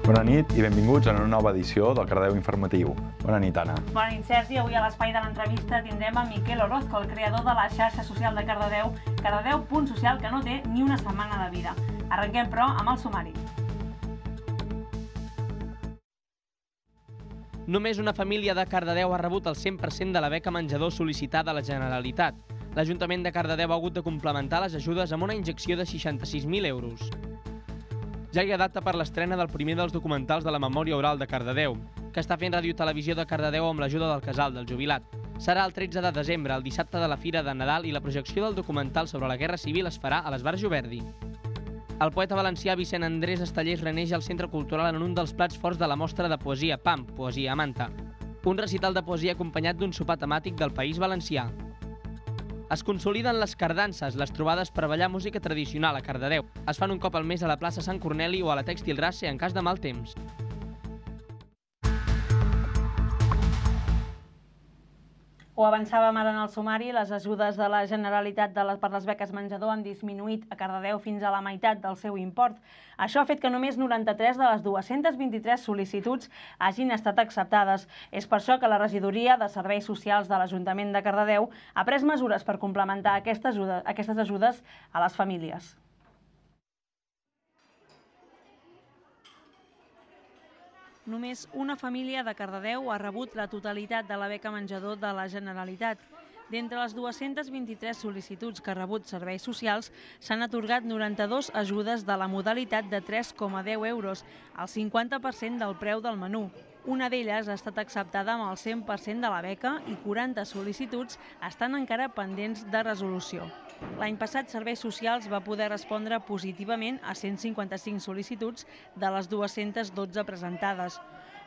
Bona nit i benvinguts a una nova edició del Cardedeu Informatiu. Bona nit, Anna. Bona nit, Sergi. Avui a l'espai de l'entrevista tindrem a Miquel Orozco, el creador de la xarxa social de Cardedeu, Cardedeu Punt Social, que no té ni una setmana de vida. Arrenquem, però, amb el sumari. Només una família de Cardedeu ha rebut el 100% de la beca menjador sol·licitada a la Generalitat. L'Ajuntament de Cardedeu ha hagut de complementar les ajudes amb una injecció de 66.000 euros. Ja hi ha data per l'estrena del primer dels documentals de la memòria oral de Cardedeu, que està fent Ràdio Televisió de Cardedeu amb l'ajuda del Casal del Jubilat. Serà el 13 de desembre, el dissabte de la Fira de Nadal, i la projecció del documental sobre la Guerra Civil es farà a l'Esbarjo Verdi. El poeta valencià Vicent Andrés Estellés reneix al Centre Cultural en un dels plats forts de la mostra de poesia PAM, Poesia a Manta, un recital de poesia acompanyat d'un sopar temàtic del País Valencià. Es consoliden les cardances, les trobades per ballar música tradicional a Cardedeu. Es fan un cop al mes a la plaça Sant Corneli o a la Tèxtil Race en cas de mal temps. Ho avançàvem ara en el sumari, les ajudes de la Generalitat per les beques menjador han disminuït a Cardedeu fins a la meitat del seu import. Això ha fet que només 93 de les 223 sol·licituds hagin estat acceptades. És per això que la Regidoria de Serveis Socials de l'Ajuntament de Cardedeu ha pres mesures per complementar aquestes ajudes a les famílies. Només una família de Cardedeu ha rebut la totalitat de la beca menjador de la Generalitat. D'entre les 223 sol·licituds que ha rebut serveis socials, s'han atorgat 92 ajudes de la modalitat de 3,10 euros, el 50% del preu del menú. Una d'elles ha estat acceptada amb el 100% de la beca i 40 sol·licituds estan encara pendents de resolució. L'any passat, Serveis Socials va poder respondre positivament a 155 sol·licituds de les 212 presentades.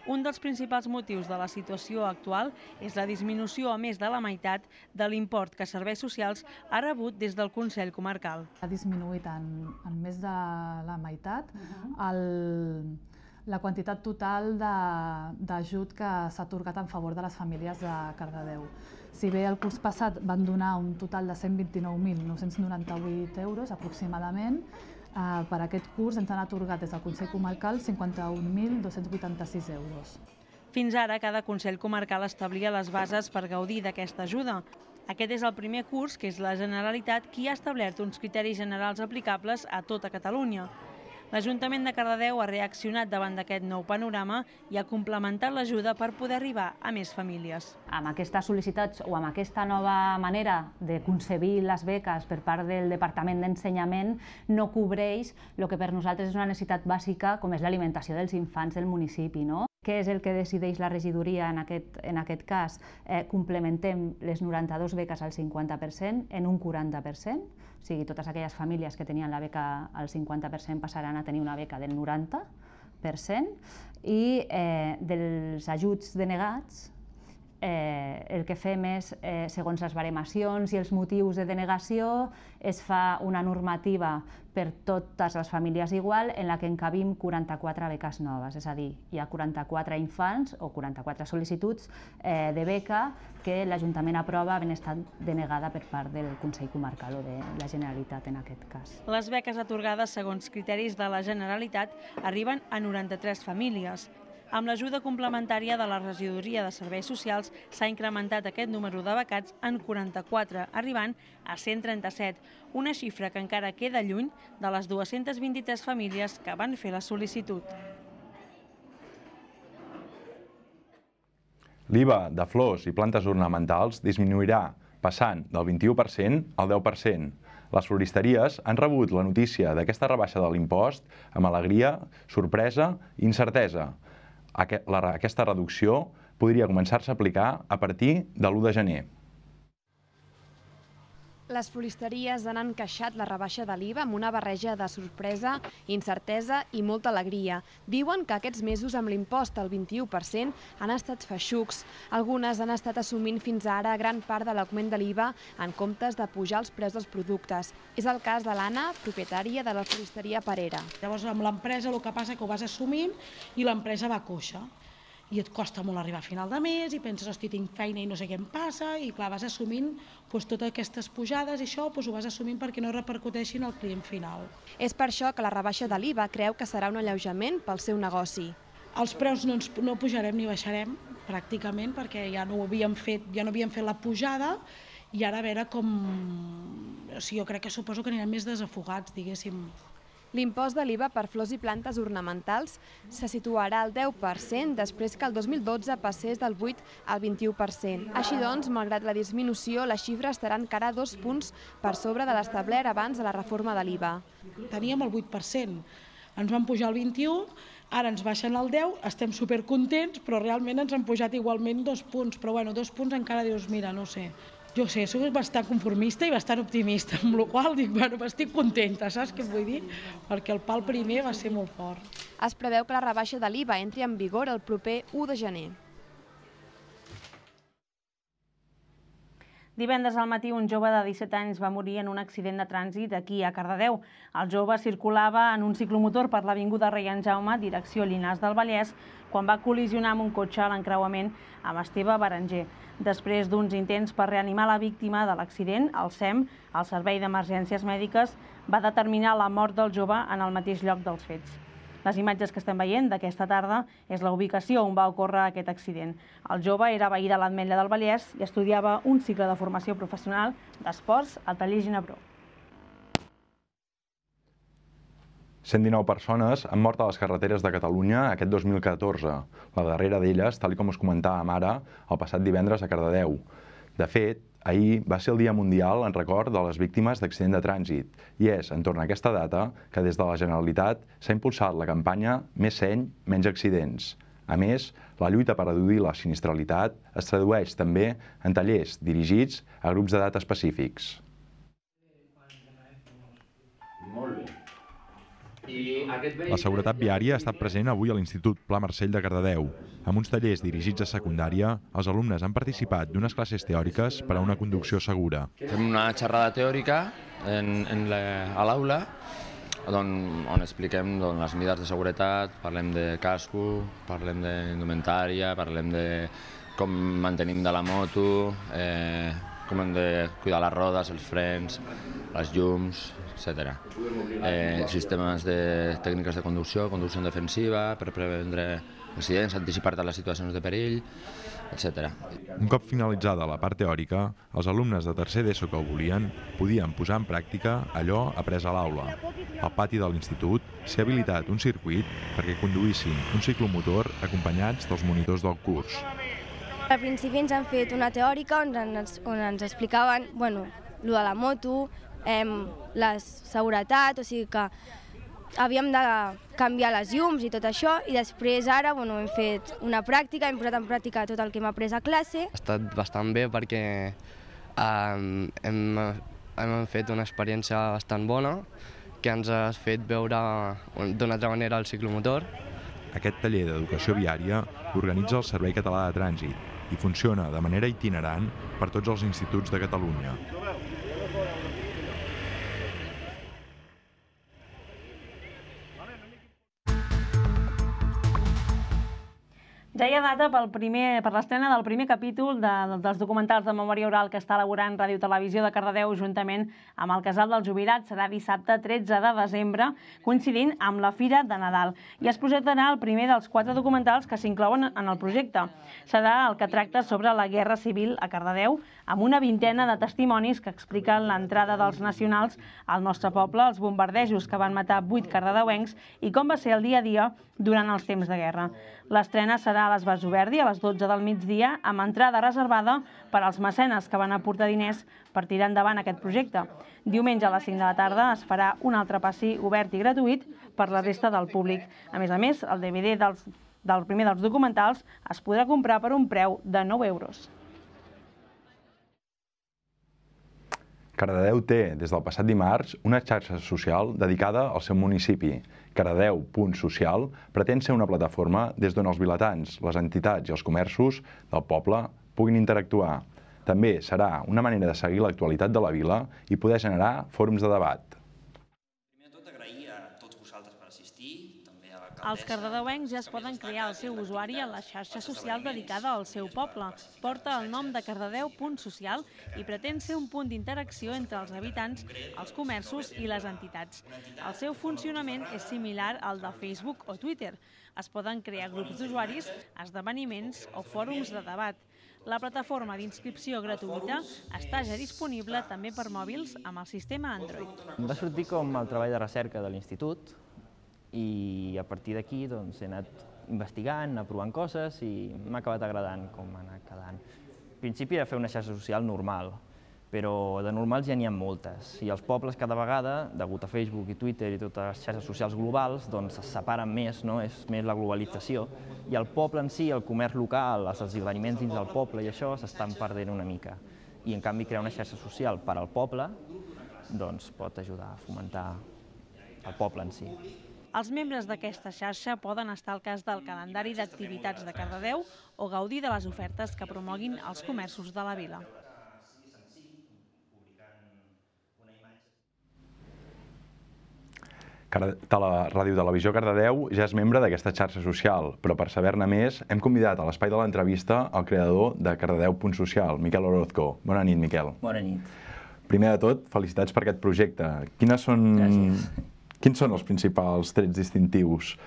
Un dels principals motius de la situació actual és la disminució a més de la meitat de l'import que Serveis Socials ha rebut des del Consell Comarcal. Ha disminuït en més de la meitat la quantitat total d'ajut que s'ha atorgat en favor de les famílies de Cardedeu. Si bé el curs passat van donar un total de 129.998 euros aproximadament, per aquest curs ens han atorgat des del Consell Comarcal 51.286 euros. Fins ara, cada Consell Comarcal establia les bases per gaudir d'aquesta ajuda. Aquest és el primer curs que és la Generalitat qui ha establert uns criteris generals aplicables a tota Catalunya. L'Ajuntament de Cardedeu ha reaccionat davant d'aquest nou panorama i ha complementat l'ajuda per poder arribar a més famílies. Amb aquestes sol·licituds o amb aquesta nova manera de concebir les beques per part del Departament d'Ensenyament no cobreix el que per nosaltres és una necessitat bàsica com és l'alimentació dels infants del municipi. Què és el que decideix la regidoria en aquest cas? Complementem les 92 beques al 50% en un 40%, o sigui, totes aquelles famílies que tenien la beca al 50% passaran a tenir una beca del 90%, i dels ajuts denegats el que fem és, segons les baremacions i els motius de denegació, es fa una normativa per totes les famílies igual en la que encabim 44 beques noves, és a dir, hi ha 44 infants o 44 sol·licituds de beca que l'Ajuntament aprova havent estat denegada per part del Consell Comarcal o de la Generalitat en aquest cas. Les beques atorgades segons criteris de la Generalitat arriben a 93 famílies. Amb l'ajuda complementària de la Regidoria de Serveis Socials s'ha incrementat aquest número de becats en 44, arribant a 137, una xifra que encara queda lluny de les 223 famílies que van fer la sol·licitud. L'IVA de flors i plantes ornamentals disminuirà, passant del 21% al 10%. Les floristeries han rebut la notícia d'aquesta rebaixa de l'impost amb alegria, sorpresa i incertesa. Aquesta reducció podria començar-se a aplicar a partir de l'1 de gener. Les floristeries han encaixat la rebaixa de l'IVA amb una barreja de sorpresa, incertesa i molta alegria. Diuen que aquests mesos amb l'impost al 21% han estat feixucs. Algunes han estat assumint fins ara gran part de l'augment de l'IVA en comptes de pujar els preus dels productes. És el cas de l'Anna, propietària de la floristeria Parera. Llavors amb l'empresa el que passa és que ho vas assumint i l'empresa va coixa. i et costa molt arribar a final de mes i penses, hosti, tinc feina i no sé què em passa, i clar, vas assumint totes aquestes pujades i això ho vas assumint perquè no repercuteixin al client final. És per això que la rebaixa de l'IVA creu que serà un alleujament pel seu negoci. Els preus no pujarem ni baixarem, pràcticament, perquè ja no havíem fet la pujada, i ara a veure com... Jo crec que suposo que anirem més desafogats, diguéssim. L'impost de l'IVA per flors i plantes ornamentals se situarà al 10% després que el 2012 passés del 8 al 21%. Així doncs, malgrat la disminució, la xifra estarà encara 2 punts per sobre de l'establert abans de la reforma de l'IVA. Teníem el 8%, ens van pujar el 21%, ara ens baixen el 10%, estem supercontents, però realment ens han pujat igualment 2 punts. Però bueno, 2 punts encara dius, mira, no sé. Jo sé, soc bastant conformista i bastant optimista, amb la qual dic, bueno, estic contenta, saps què vull dir? Perquè el pal primer va ser molt fort. Es preveu que la rebaixa de l'IVA entri en vigor el proper 1 de gener. Divendres al matí un jove de 17 anys va morir en un accident de trànsit aquí a Cardedeu. El jove circulava en un ciclomotor per l'avinguda Rei en Jaume, direcció Llinars del Vallès, quan va col·lisionar amb un cotxe a l'encreuament amb Esteve Berenguer. Després d'uns intents per reanimar la víctima de l'accident, el SEM, el Servei d'Emergències Mèdiques, va determinar la mort del jove en el mateix lloc dels fets. Les imatges que estem veient d'aquesta tarda és la ubicació on va ocórrer aquest accident. El jove era veí de l'Ametlla del Vallès i estudiava un cicle de formació professional d'esports al taller Ginebró. 119 persones han mort a les carreteres de Catalunya aquest 2014. La darrera d'elles, tal com us comentàvem ara, el passat divendres a Cardedeu. De fet, ahir va ser el Dia Mundial en record de les víctimes d'accident de trànsit i és entorn a aquesta data que des de la Generalitat s'ha impulsat la campanya Més seny, menys accidents. A més, la lluita per reduir la sinistralitat es tradueix també en tallers dirigits a grups d'edat específics. Molt bé. La seguretat viària ha estat present avui a l'Institut Pla Marcell de Cardedeu. Amb uns tallers dirigits a secundària, els alumnes han participat d'unes classes teòriques per a una conducció segura. Fem una xerrada teòrica a l'aula on expliquem les mesures de seguretat, parlem de casco, parlem d'indumentària, parlem de com mantenim de la moto, com hem de cuidar les rodes, els frens, les llums, etc. Sistemes de tècniques de conducció defensiva, per prevendre accidents, anticipar-te a les situacions de perill, etc. Un cop finalitzada la part teòrica, els alumnes de tercer d'ESO que ho volien podien posar en pràctica allò après a l'aula. Al pati de l'institut s'ha habilitat un circuit perquè conduïssin un ciclomotor acompanyats dels monitors del curs. Al principi ens han fet una teòrica on ens explicaven lo de la moto, la seguretat, o sigui que havíem de canviar les llums i tot això, i després ara hem fet una pràctica, hem posat en pràctica tot el que hem après a classe. Ha estat bastant bé perquè hem fet una experiència bastant bona que ens ha fet veure d'una altra manera el ciclomotor. Aquest taller d'educació viària l'organitza el Servei Català de Trànsit i funciona de manera itinerant per tots els instituts de Catalunya. Ja hi ha data per l'estrena del primer capítol dels documentals de memòria oral que està elaborant Ràdio Televisió de Cardedeu juntament amb el Casal dels Jubilats. Serà dissabte 13 de desembre, coincidint amb la Fira de Nadal. I es projectarà el primer dels 4 documentals que s'inclouen en el projecte. Serà el que tracta sobre la Guerra Civil a Cardedeu, amb una vintena de testimonis que expliquen l'entrada dels nacionals al nostre poble, els bombardejos que van matar 8 cardedeuencs i com va ser el dia a dia durant els temps de guerra. L'estrena serà a l'Esbart Juverdi a les 12 del migdia, amb entrada reservada per als mecenes que van aportar diners per tirar endavant aquest projecte. Diumenge a les 5 de la tarda es farà un altre passi obert i gratuït per la resta del públic. A més, el DVD del primer dels documentals es podrà comprar per un preu de 9 euros. Cardedeu té, des del passat dimarts, una xarxa social dedicada al seu municipi. Cardedeu.social pretén ser una plataforma des d'on els vilatans, les entitats i els comerços del poble puguin interactuar. També serà una manera de seguir l'actualitat de la vila i poder generar fòrums de debat. Primer de tot, agrair a tots vosaltres per assistir, també a l'alcaldessa. Els cardedeuencs ja es poden crear el seu usuari a la xarxa social dedicada al seu poble. Porta el nom de cardedeu.social i pretén ser un punt d'interacció entre els habitants, els comerços i les entitats. El seu funcionament és similar al de Facebook o Twitter. Es poden crear grups d'usuaris, esdeveniments o fòrums de debat. La plataforma d'inscripció gratuïta està ja disponible també per mòbils amb el sistema Android. Va sortir com el treball de recerca de l'institut i a partir d'aquí he anat investigant, anat provant coses i m'ha acabat agradant com ha anat quedant. Al principi era fer una xarxa social normal, però de normals ja n'hi ha moltes. I els pobles cada vegada, degut a Facebook i Twitter i totes les xarxes socials globals, es separen més, és més la globalització. I el poble en si, el comerç local, els esdeveniments dins del poble i això s'estan perdent una mica. I en canvi crear una xarxa social per al poble pot ajudar a fomentar el poble en si. Els membres d'aquesta xarxa poden estar al cas del calendari d'activitats de Cardedeu o gaudir de les ofertes que promoguin els comerços de la vila. Ràdio Televisió Cardedeu ja és membre d'aquesta xarxa social, però per saber-ne més hem convidat a l'espai de l'entrevista el creador de Cardedeu.social, Miquel Orozco. Bona nit, Miquel. Bona nit. Primer de tot, felicitats per aquest projecte. Quins són els principals trets distintius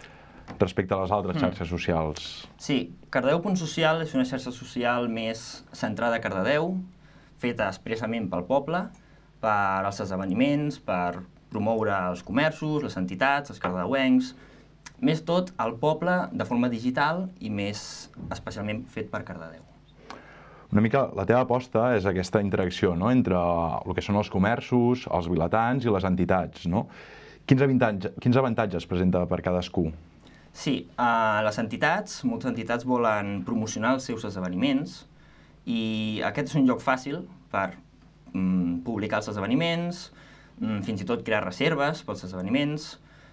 respecte a les altres xarxes socials? Sí, Cardedeu.social és una xarxa social més centrada a Cardedeu, feta expressament pel poble, per als esdeveniments, per promoure els comerços, les entitats, els cardedeuencs, més tot al poble de forma digital i més especialment fet per Cardedeu. Una mica la teva aposta és aquesta interacció entre el que són els comerços, els vilatans i les entitats. Quins avantatges presenta per cadascú? Sí, les entitats, moltes entitats volen promocionar els seus esdeveniments i aquest és un lloc fàcil per publicar els esdeveniments, fins i tot crear reserves pels esdeveniments.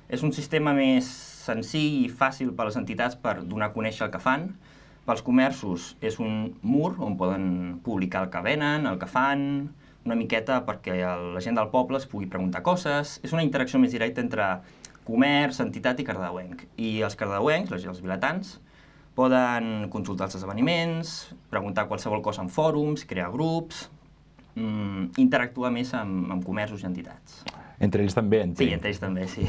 És un sistema més senzill i fàcil per a les entitats per donar a conèixer el que fan. Pels comerços és un mur on poden publicar el que venen, el que fan, una miqueta perquè la gent del poble es pugui preguntar coses. És una interacció més directa entre comerç, entitat i cardedeuenc. I els cardedeuencs, els vilatans, poden consultar els esdeveniments, preguntar qualsevol cosa en fòrums, crear grups, interactuar més amb comerços i entitats. Entre ells també, entenc. Sí, entre ells també, sí.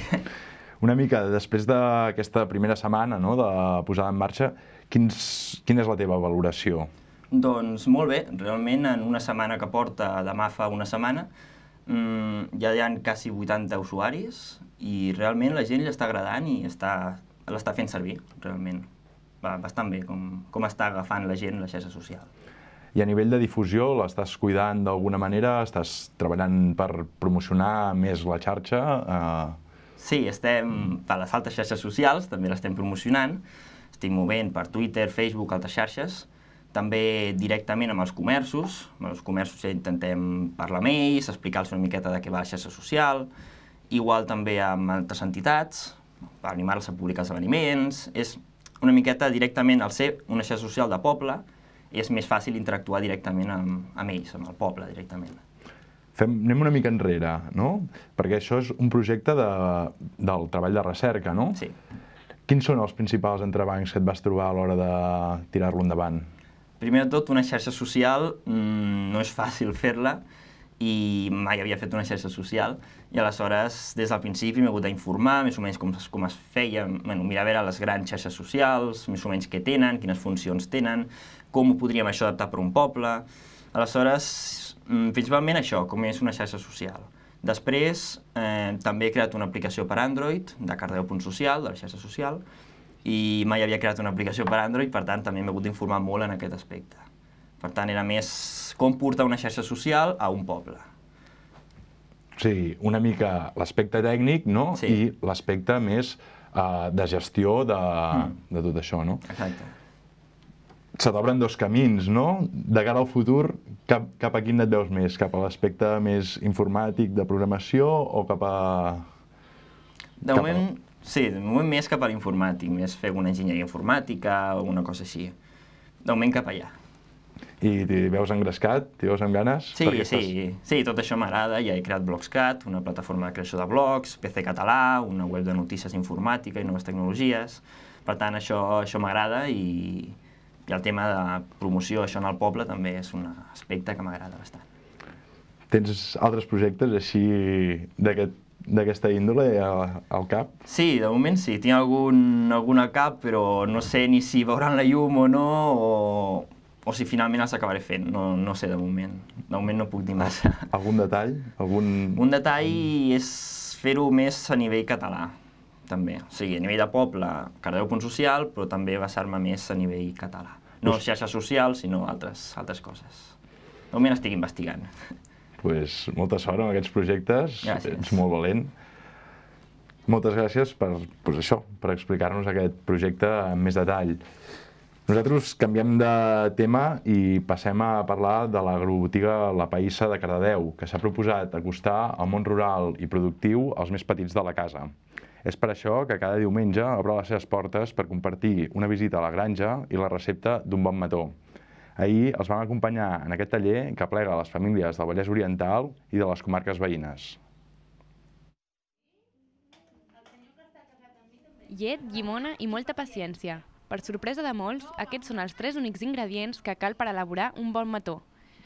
Una mica, després d'aquesta primera setmana de posada en marxa, quina és la teva valoració? Doncs molt bé, realment en una setmana que porta, demà fa una setmana, ja hi ha quasi 80 usuaris i realment la gent l'està agradant i l'està fent servir, realment. Va bastant bé com està agafant la gent la xarxa social. I a nivell de difusió, l'estàs cuidant d'alguna manera? Estàs treballant per promocionar més la xarxa? Sí, estem per les altres xarxes socials, també l'estem promocionant. Estic movent per Twitter, Facebook, altres xarxes. També directament amb els comerços. Amb els comerços ja intentem parlar amb ells, explicar-los una miqueta de què va la xarxa social. Igual també amb altres entitats, per animar-los a publicar esdeveniments. És una miqueta directament al ser una xarxa social de poble, és més fàcil interactuar directament amb ells, amb el poble directament. Anem una mica enrere, no? Perquè això és un projecte del treball de recerca, no? Sí. Quins són els principals entrebancs que et vas trobar a l'hora de tirar-lo endavant? Primer de tot, una xarxa social no és fàcil fer-la i mai havia fet una xarxa social i aleshores des del principi m'he hagut d'informar més o menys com es feia, mirar a veure les grans xarxes socials, més o menys què tenen, quines funcions tenen, com ho podríem això adaptar per un poble. Aleshores, principalment això, com és una xarxa social. Després, també he creat una aplicació per Android, de Cardedeu.social, de la xarxa social, i mai havia creat una aplicació per Android, per tant, també m'he hagut d'informar molt en aquest aspecte. Per tant, era més com portar una xarxa social a un poble. Sí, una mica l'aspecte tècnic, no? Sí. I l'aspecte més de gestió de tot això, no? Exacte. Se t'obren dos camins, no? De cara al futur, cap a quin et veus més? Cap a l'aspecte més informàtic de programació o cap a... De moment, sí, de moment més cap a l'informàtic, més fer una enginyeria informàtica o alguna cosa així. De moment cap allà. I t'hi veus engrescat? T'hi veus amb ganes? Sí, tot això m'agrada. Ja he creat Blogscat, una plataforma de creació de blogs, PC Català, una web de notícies informàtica i noves tecnologies. Per tant, això m'agrada i el tema de promoció, això en el poble, també és un aspecte que m'agrada bastant. Tens altres projectes així d'aquesta índole al cap? Sí, de moment sí. Tinc algun al cap, però no sé ni si veuran la llum o no, o si finalment els acabaré fent. No sé de moment. De moment no puc dir massa. Algun detall? Un detall és fer-ho més a nivell català, també. O sigui, a nivell de poble, Cardedeu.social, però també basar-me més a nivell català. No xarxes socials, sinó altres coses. De moment estic investigant. Doncs molta sort amb aquests projectes. Gràcies. Ets molt valent. Moltes gràcies per explicar-nos aquest projecte amb més detall. Nosaltres canviem de tema i passem a parlar de l'agrobotiga La Païssa de Cardedeu, que s'ha proposat acostar el món rural i productiu als més petits de la casa. És per això que cada diumenge obre les seves portes per compartir una visita a la granja i la recepta d'un bon mató. Ahir els vam acompanyar en aquest taller que aplega les famílies del Vallès Oriental i de les comarques veïnes. Llet, llimona i molta paciència. Per sorpresa de molts, aquests són els 3 únics ingredients que cal per elaborar un bon mató.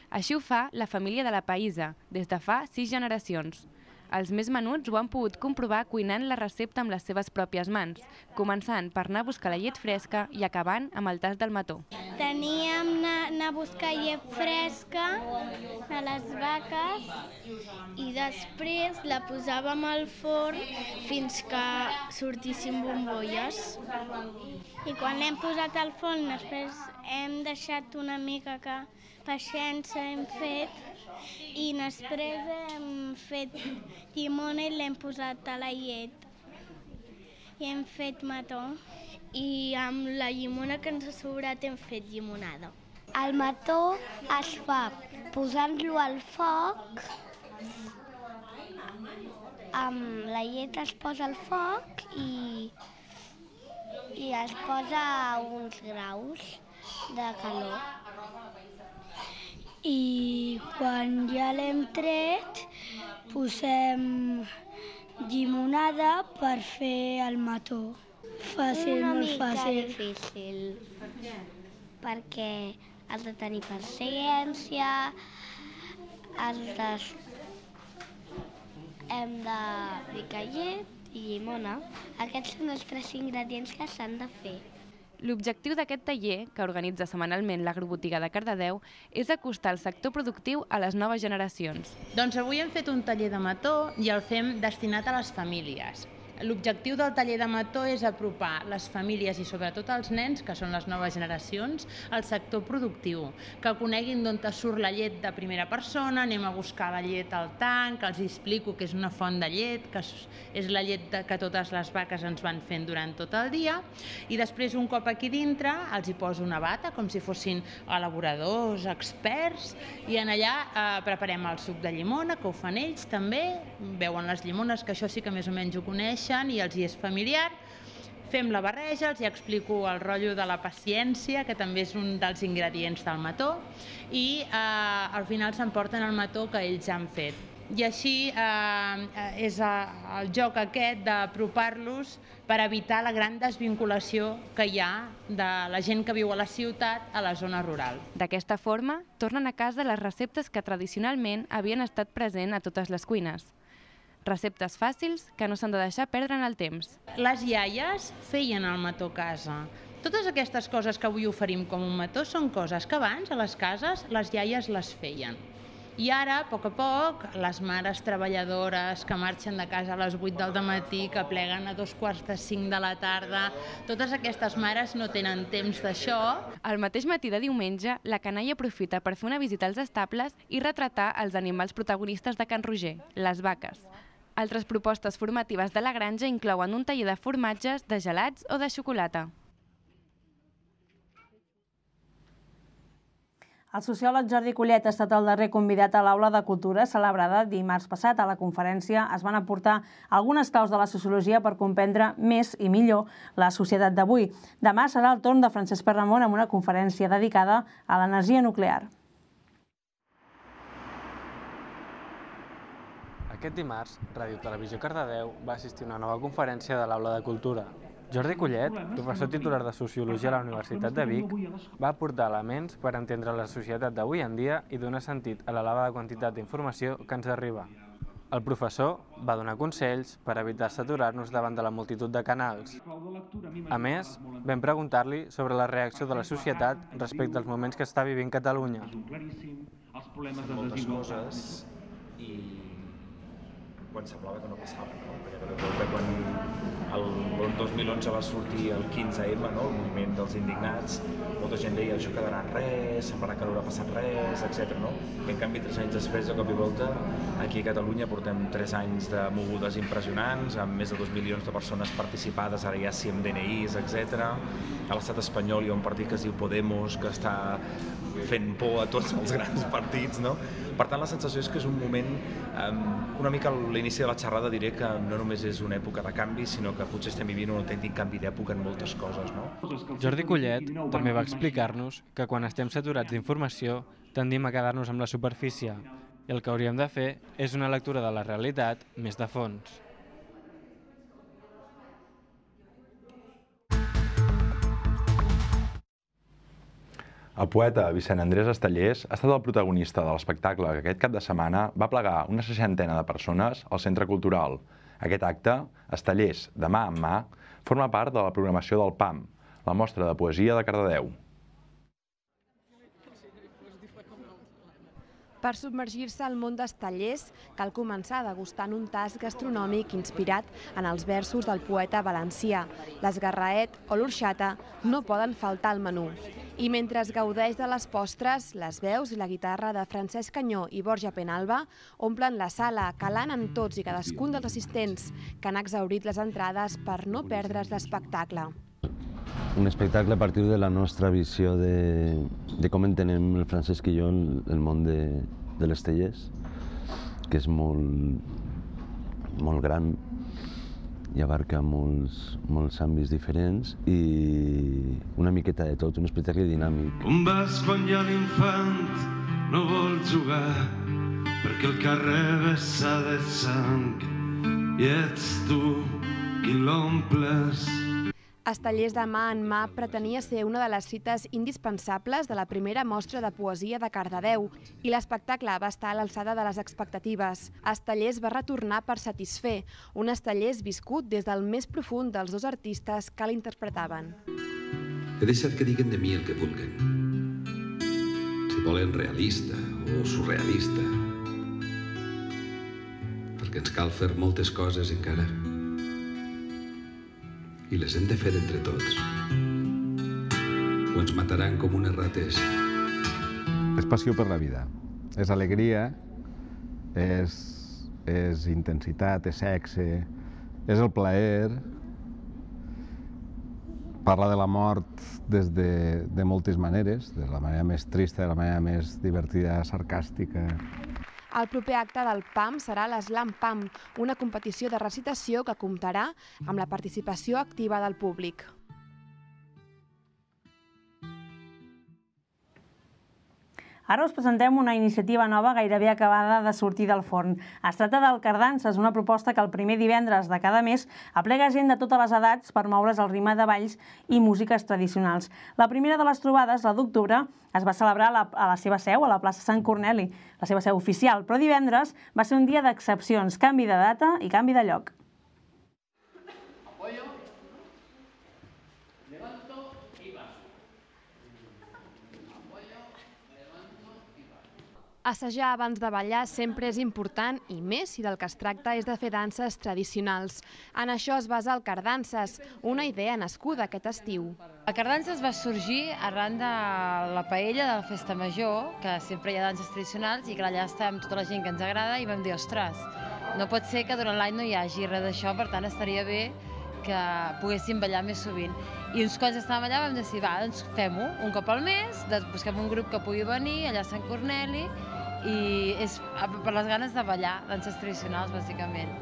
Així ho fa la família de La Païssa, des de fa 6 generacions. Els més menuts ho han pogut comprovar cuinant la recepta amb les seves pròpies mans, començant per anar a buscar la llet fresca i acabant amb el tast del mató. Teníem d'anar a buscar llet fresca de les vaques i després la posàvem al forn fins que sortissin bombolles. I quan l'hem posat al forn, després hem deixat una mica que paciència hem fet i després hem fet llimona i l'hem posat a la llet i hem fet mató. I amb la llimona que ens ha sobrat hem fet llimonada. El mató es fa posant-lo al foc, amb la llet es posa al foc i es posa a uns graus de calor. I quan ja l'hem tret, posem llimonada per fer el mató. Fàcil, molt fàcil. Una mica difícil, perquè has de tenir paciència, hem de ficar llet i llimona. Aquests són els 3 ingredients que s'han de fer. L'objectiu d'aquest taller, que organitza setmanalment l'Agrobotiga de Cardedeu, és acostar el sector productiu a les noves generacions. Doncs avui hem fet un taller de mató i el fem destinat a les famílies. L'objectiu del taller de mató és apropar les famílies i sobretot els nens, que són les noves generacions, al sector productiu, que coneguin d'on surt la llet de primera persona, anem a buscar la llet al tanc, els explico que és una font de llet, que és la llet que totes les vaques ens van fent durant tot el dia, i després un cop aquí dintre els hi poso una bata, com si fossin elaboradors, experts, i en allà preparem el suc de llimona, que ho fan ells també, veuen les llimones, que això sí que més o menys ho coneixen, i els hi és familiar. Fem la barreja, els hi explico el rotllo de la paciència, que també és un dels ingredients del mató, i al final s'emporten el mató que ells han fet. I així és el joc aquest d'apropar-los per evitar la gran desvinculació que hi ha de la gent que viu a la ciutat a la zona rural. D'aquesta forma, tornen a casa les receptes que tradicionalment havien estat presents a totes les cuines. Receptes fàcils que no s'han de deixar perdre en el temps. Les iaies feien el mató a casa. Totes aquestes coses que avui oferim com un mató són coses que abans a les cases les iaies les feien. I ara, a poc, les mares treballadores que marxen de casa a les 8 del matí, que pleguen a 4:45 de la tarda, totes aquestes mares no tenen temps d'això. El mateix matí de diumenge, la canalla aprofita per fer una visita als estables i retratar els animals protagonistes de Can Roger, les vaques. Altres propostes formatives de la granja inclouen un taller de formatges, de gelats o de xocolata. El sociòleg Jordi Collet ha estat el darrer convidat a l'Aula de Cultura celebrada dimarts passat. A la conferència es van aportar algunes claus de la sociologia per comprendre més i millor la societat d'avui. Demà serà el torn de Francesc Perramon amb una conferència dedicada a l'energia nuclear. Aquest dimarts, Ràdio Televisió Cardedeu va assistir a una nova conferència de l'Aula de Cultura. Jordi Collet, professor titular de Sociologia a la Universitat de Vic, va aportar elements per entendre la societat d'avui en dia i donar sentit a l'elevada quantitat d'informació que ens arriba. El professor va donar consells per evitar saturar-nos davant de la multitud de canals. A més, vam preguntar-li sobre la reacció de la societat respecte als moments que està vivint Catalunya. Moltes coses i quan semblava que no passava, perquè quan el 2011 va sortir el 15M, el moviment dels indignats, molta gent deia això quedarà en res, semblarà que no haurà passat res, etc. I en canvi, 3 anys després, de cop i volta, aquí a Catalunya portem 3 anys de mogudes impressionants, amb més de 2 milions de persones participades, ara ja sí amb DNIs, etc. A l'estat espanyol hi ha un partit que es diu Podemos, que està fent por a tots els grans partits, no? Per tant, la sensació és que és un moment, una mica a l'inici de la xerrada diré que no només és una època de canvi, sinó que potser estem vivint un autèntic canvi d'època en moltes coses, no? Jordi Collet també va explicar-nos que quan estem saturats d'informació tendim a quedar-nos amb la superfície i el que hauríem de fer és una lectura de la realitat més de fons. El poeta Vicent Andrés Estellés ha estat el protagonista de l'espectacle que aquest cap de setmana va plegar una 60ena de persones al Centre Cultural. Aquest acte, Estellés de mà en mà, forma part de la programació del PAM, la mostra de poesia de Cardedeu. Per submergir-se al món d'Estellés, cal començar degustant un tast gastronòmic inspirat en els versos del poeta valencià. L'esgarraet o l'orxata no poden faltar al menú. I mentre es gaudeix de les postres, les veus i la guitarra de Francesc Canyó i Borja Penalba omplen la sala, calant en tots i cadascun dels assistents que han exhaurit les entrades per no perdre's l'espectacle. Un espectacle a partir de la nostra visió de com entenem el Francesc i jo el món de l'Estellés, que és molt gran i abarca molts àmbits diferents i una miqueta de tot, un espectacle dinàmic. On vas quan ja l'infant no vol jugar perquè el carrer vessa de sang i ets tu qui l'omples. Estellés de mà en mà pretenia ser una de les cites indispensables de la primera mostra de poesia de Cardedeu i l'espectacle va estar a l'alçada de les expectatives. Estellés va retornar per satisfer, un Estellés viscut des del més profund dels dos artistes que l'interpretaven. He deixat que diguen de mi el que vulguen. Si volen realista o surrealista. Perquè ens cal fer moltes coses encara. I les hem de fer entre tots. O ens mataran com unes rates. És passió per la vida, és alegria, és intensitat, és sexe, és el plaer. Parla de la mort des de moltes maneres, de la manera més trista, de la manera més divertida, sarcàstica. El proper acte del PAM serà l'Slam PAM, una competició de recitació que comptarà amb la participació activa del públic. Ara us presentem una iniciativa nova gairebé acabada de sortir del forn. Es tracta del Cardances, una proposta que el primer divendres de cada mes aplega gent de totes les edats per moure's al ritme de balls i músiques tradicionals. La primera de les trobades, la d'octubre, es va celebrar a la seva seu, a la plaça Sant Corneli, la seva seu oficial, però divendres va ser un dia d'excepcions, canvi de data i canvi de lloc. Assajar abans de ballar sempre és important i més si del que es tracta és de fer danses tradicionals. En això es basa el Cardances, una idea nascuda aquest estiu. El Cardances va sorgir arran de la paella de la Festa Major, que sempre hi ha danses tradicionals i que allà estem tota la gent que ens agrada i vam dir, ostres, no pot ser que durant l'any no hi hagi res d'això, per tant estaria bé que poguéssim ballar més sovint. I uns quants estàvem allà, vam decidir, va, doncs fem-ho un cop al mes, busquem un grup que pugui venir allà a Sant Corneli i és per les ganes de ballar, danses tradicionals, bàsicament.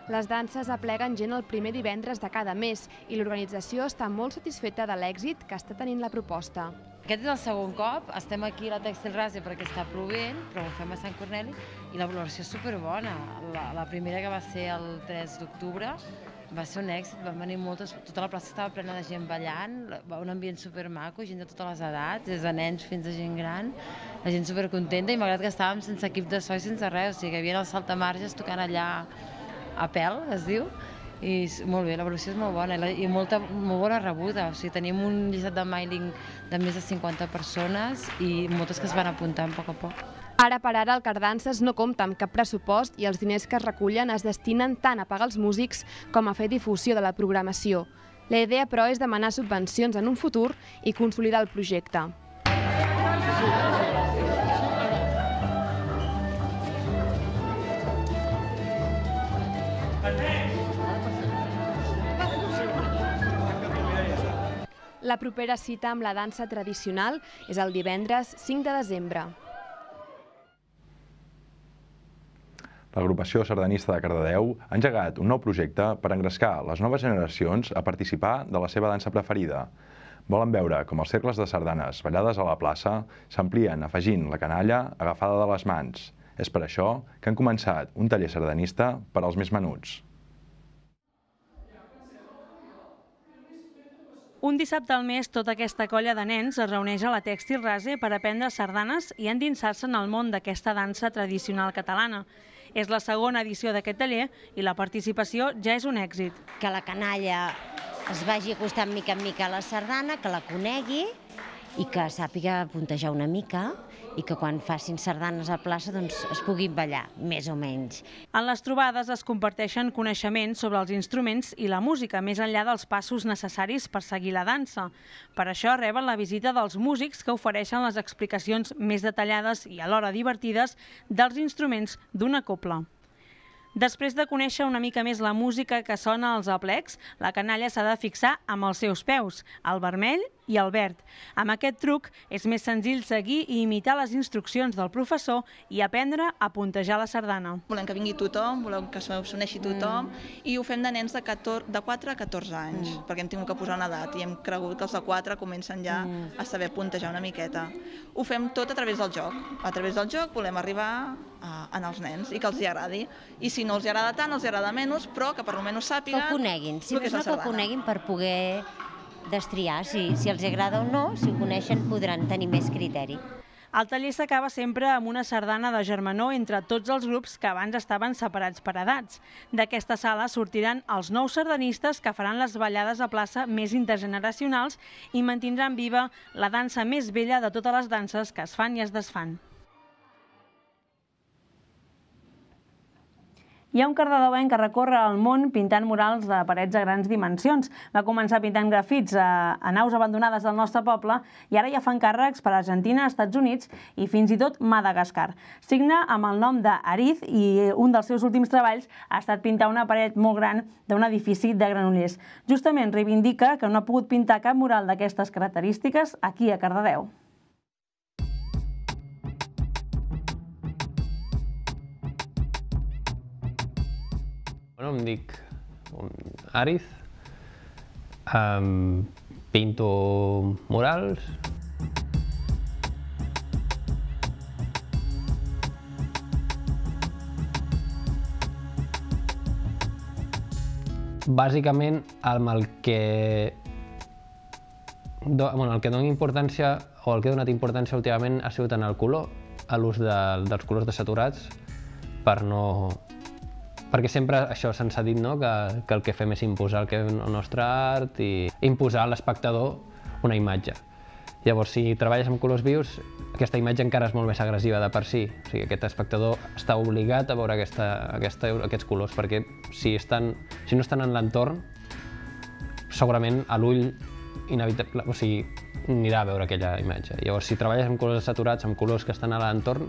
Les danses apleguen gent el primer divendres de cada mes i l'organització està molt satisfeta de l'èxit que està tenint la proposta. Aquest és el segon cop, estem aquí a la Tèxtil Ràsia perquè està plovent, però ho fem a Sant Corneli i la valoració és superbona. La primera, que va ser el 3 d'octubre, va ser un èxit, van venir moltes, tota la plaça estava plena de gent ballant, un ambient supermaco, gent de totes les edats, des de nens fins a gent gran, la gent supercontenta i malgrat que estàvem sense equip de so i sense res, o sigui que hi havia els saltamarges tocant allà a pèl, es diu, i molt bé, la valoració és molt bona i molt bona rebuda, o sigui, tenim un llistat de mailing de més de 50 persones i moltes que es van apuntant a poc a poc. Ara per ara el Cardances no compta amb cap pressupost i els diners que es recullen es destinen tant a pagar els músics com a fer difusió de la programació. La idea, però, és demanar subvencions en un futur i consolidar el projecte. La propera cita amb la dansa tradicional és el divendres 5 de desembre. L'agrupació sardanista de Cardedeu ha engegat un nou projecte per engrescar les noves generacions a participar de la seva dansa preferida. Volen veure com els cercles de sardanes ballades a la plaça s'amplien afegint la canalla agafada de les mans. És per això que han començat un taller sardanista per als més menuts. Un dissabte al mes, tota aquesta colla de nens es reuneix a la Tèxtil Ràsia per aprendre sardanes i endinsar-se en el món d'aquesta dansa tradicional catalana. És la segona edició d'aquest taller i la participació ja és un èxit. Que la canalla es vagi acostant mica en mica a la sardana, que la conegui i que sàpiga puntejar una mica i que quan facin sardanes a plaça doncs es puguin ballar, més o menys. En les trobades es comparteixen coneixements sobre els instruments i la música, més enllà dels passos necessaris per seguir la dansa. Per això reben la visita dels músics que ofereixen les explicacions més detallades i alhora divertides dels instruments d'una cobla. Després de conèixer una mica més la música que sona als aplecs, la canalla s'ha de fixar amb els seus peus, el vermell i el verd. Amb aquest truc és més senzill seguir i imitar les instruccions del professor i aprendre a puntejar la sardana. Volem que vingui tothom, volem que s'uneixi tothom i ho fem de nens de 4 a 14 anys, perquè hem tingut que posar una edat i hem cregut que els de 4 comencen ja a saber puntejar una miqueta. Ho fem tot a través del joc. A través del joc volem arribar als nens i que els agradi. I si no els agrada tant, els agrada menys, però que per almenys sàpiguen que ho coneguin, si més no que ho coneguin per poder destriar si els agrada o no, si ho coneixen podran tenir més criteri. El taller s'acaba sempre amb una sardana de germanor entre tots els grups que abans estaven separats per edats. D'aquesta sala sortiran els nous sardanistes que faran les ballades a plaça més intergeneracionals i mantindran viva la dansa més vella de totes les danses que es fan i es desfan. Hi ha un cardedeuenc que recorre el món pintant murals de parets de grans dimensions. Va començar pintant grafits a naus abandonades del nostre poble i ara ja fan càrrecs per Argentina, Estats Units i fins i tot Madagascar. Signa amb el nom d'Ariz i un dels seus últims treballs ha estat pintar una paret molt gran d'un edifici de Granollers. Justament reivindica que no ha pogut pintar cap mural d'aquestes característiques aquí a Cardedeu. Em dic Ariz, pinto murals. Bàsicament, el que dona importància, o el que he donat importància últimament ha sigut en el color, a l'ús dels colors desaturats, perquè sempre això se'ns ha dit que el que fem és imposar el nostre art i imposar a l'espectador una imatge. Llavors, si treballes amb colors vius, aquesta imatge encara és molt més agressiva de per si. O sigui, aquest espectador està obligat a veure aquests colors, perquè si no estan en l'entorn, segurament a l'ull anirà a veure aquella imatge. Llavors, si treballes amb colors saturats, amb colors que estan a l'entorn,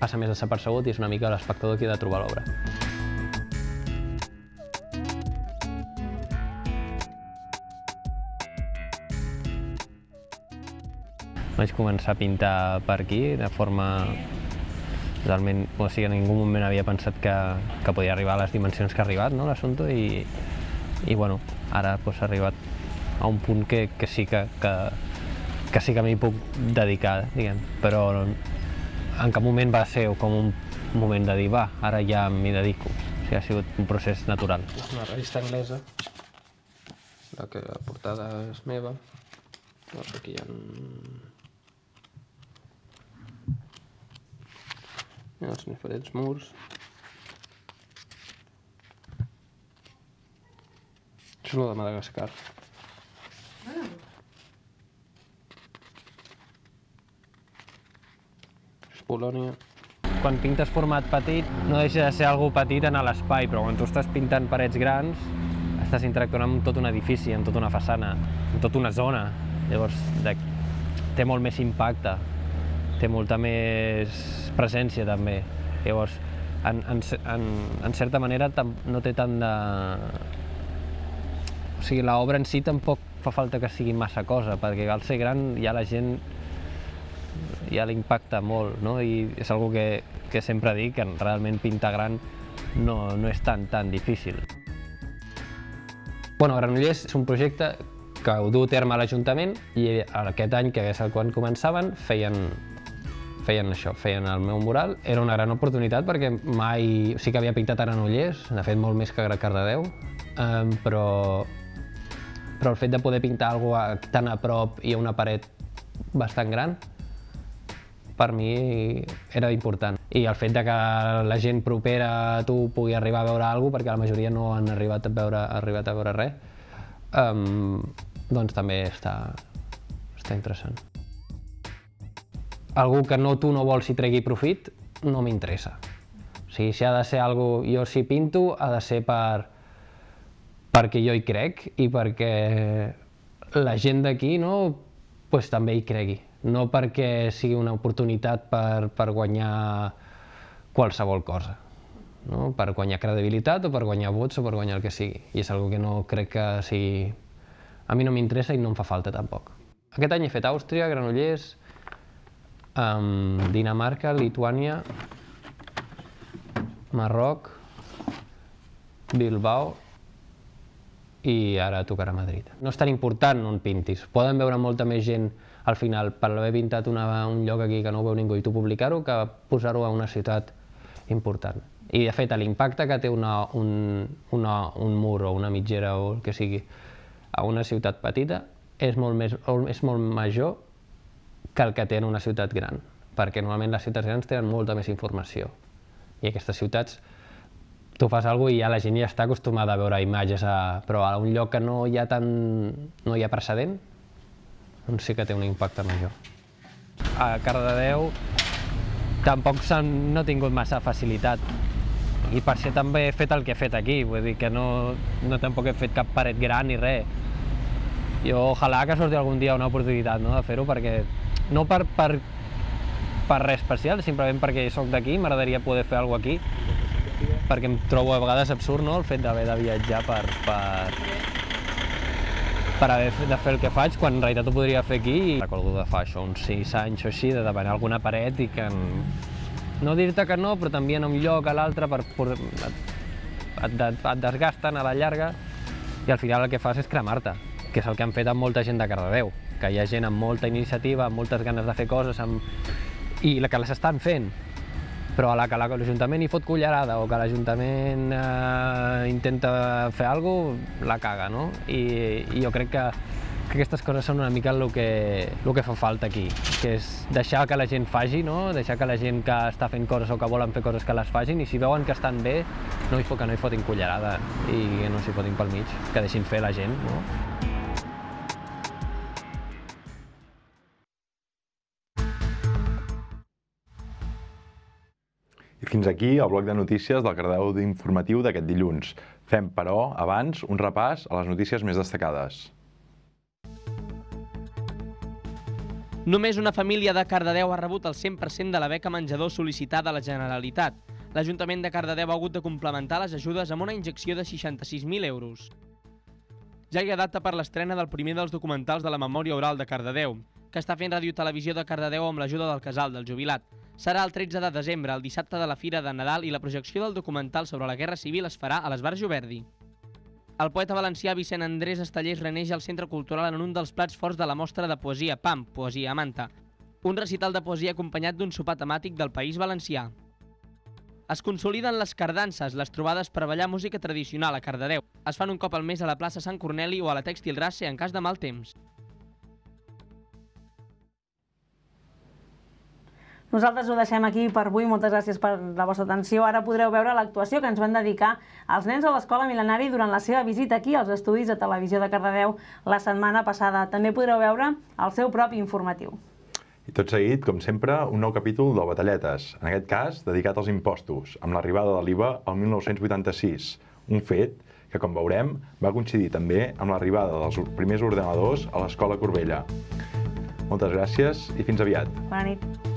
passa més desapercebut i és una mica l'espectador qui ha de trobar l'obra. vaig començar a pintar per aquí de forma realment, o sigui, en ningú moment havia pensat que podia arribar a les dimensions que ha arribat, no, l'assumpte, i bueno, ara ha arribat a un punt que sí que m'hi puc dedicar, diguem, però en cap moment va ser com un moment de dir, va, ara ja m'hi dedico. O sigui, ha sigut un procés natural. És una revista anglesa, la portada és meva. Llavors aquí hi ha els diferents murs. Això és el de Madagascar. És Polònia. Quan pintes format petit, no deixa de ser algú petit en l'espai, però quan tu estàs pintant parets grans, estàs interactuant amb tot un edifici, amb tota una façana, amb tota una zona. Llavors, té molt més impacte, té molta més presència també. Llavors, en certa manera, no té tant de... O sigui, l'obra en si tampoc fa falta que sigui massa cosa, perquè al ser gran ja la gent ja l'impacta molt, no? I és una cosa que sempre dic, que realment pintar gran no és tan difícil. Bueno, Granollers és un projecte que ho du a terme a l'Ajuntament i aquest any, que és quan començaven, feien això, feien el meu mural. Era una gran oportunitat perquè mai... Sí que havia pintat a Granollers, de fet molt més que a Cardedeu, però el fet de poder pintar alguna cosa tan a prop i a una paret bastant gran, per mi era important. I el fet de que la gent propera a tu pugui arribar a veure alguna cosa, perquè la majoria no han arribat a veure res, doncs també està interessant. Algú que tu no vols i tregui profit, no m'interessa. O sigui, si ha de ser alguna cosa... Jo si pinto, ha de ser perquè jo hi crec i perquè la gent d'aquí també hi cregui. No perquè sigui una oportunitat per guanyar qualsevol cosa, per guanyar credibilitat o per guanyar vots o per guanyar el que sigui. I és una cosa que no crec que sigui... A mi no m'interessa i no em fa falta tampoc. Aquest any he fet Àustria, Granollers, Dinamarca, Lituània, Marroc, Bilbao i ara tocarà Madrid. No és tan important on pintis. Poden veure molta més gent al final per haver pintat un lloc aquí que no ho veu ningú i tu publicar-ho que posar-ho a una ciutat important. I de fet l'impacte que té un mur o una mitgera o el que sigui a una ciutat petita és molt major que el que té en una ciutat gran, perquè normalment les ciutats grans tenen molta més informació i aquestes ciutats tu fas alguna cosa i ja la gent ja està acostumada a veure imatges, però a un lloc que no hi ha precedent, doncs sí que té un impacte major. A Cardedeu tampoc no he tingut massa facilitat i per això també he fet el que he fet aquí, vull dir que no tampoc he fet cap paret gran ni res. Jo ojalà que surti algun dia una oportunitat de fer-ho, perquè no per res especial, simplement perquè soc d'aquí, m'agradaria poder fer alguna cosa aquí, perquè em trobo a vegades absurd el fet d'haver de viatjar per haver de fer el que faig, quan en realitat ho podria fer aquí. Recordo de fa això uns 6 anys o així, de demanar alguna paret i que... No dir-te que no, però t'envien a un lloc a l'altre, et desgasten a la llarga i al final el que fas és cremar-te, que és el que han fet amb molta gent de Cardedeu, que hi ha gent amb molta iniciativa, amb moltes ganes de fer coses i que les estan fent, però a la que l'Ajuntament hi fot cullerada o que l'Ajuntament intenta fer alguna cosa, la caga, no? I jo crec que aquestes coses són una mica el que fa falta aquí, que és deixar que la gent faci, deixar que la gent que està fent coses o que volen fer coses que les facin, i si veuen que estan bé, que no hi fotin cullerada i que no s'hi fotin pel mig, que deixin fer la gent. I fins aquí el bloc de notícies del Cardedeu informatiu d'aquest dilluns. Fem, però, abans, un repàs a les notícies més destacades. Només una família de Cardedeu ha rebut el 100% de la beca menjador sol·licitada a la Generalitat. L'Ajuntament de Cardedeu ha hagut de complementar les ajudes amb una injecció de 66.000 euros. Ja hi ha data per l'estrena del primer dels documentals de la memòria oral de Cardedeu. que està fent Ràdio Televisió de Cardedeu amb l'ajuda del Casal del Jubilat. Serà el 13 de desembre, el dissabte de la Fira de Nadal, i la projecció del documental sobre la Guerra Civil es farà a l'Esbarjo Verdi. El poeta valencià Vicent Andrés Estellés reneix al Centre Cultural en un dels plats forts de la mostra de poesia PAM, Poesia a Manta, un recital de poesia acompanyat d'un sopar temàtic del País Valencià. Es consoliden les cardances, les trobades per ballar música tradicional a Cardedeu. Es fan un cop al mes a la plaça Sant Corneli o a la Tèxtil Race en cas de mal temps. Nosaltres ho deixem aquí per avui. Moltes gràcies per la vostra atenció. Ara podreu veure l'actuació que ens van dedicar als nens a l'Escola Mil·lenari durant la seva visita aquí als estudis de Televisió de Cardedeu la setmana passada. També podreu veure el seu propi informatiu. I tot seguit, com sempre, un nou capítol del Batalletes, en aquest cas dedicat als impostos, amb l'arribada de l'IVA al 1986, un fet que, com veurem, va coincidir també amb l'arribada dels primers ordenadors a l'Escola Corbella. Moltes gràcies i fins aviat. Bona nit.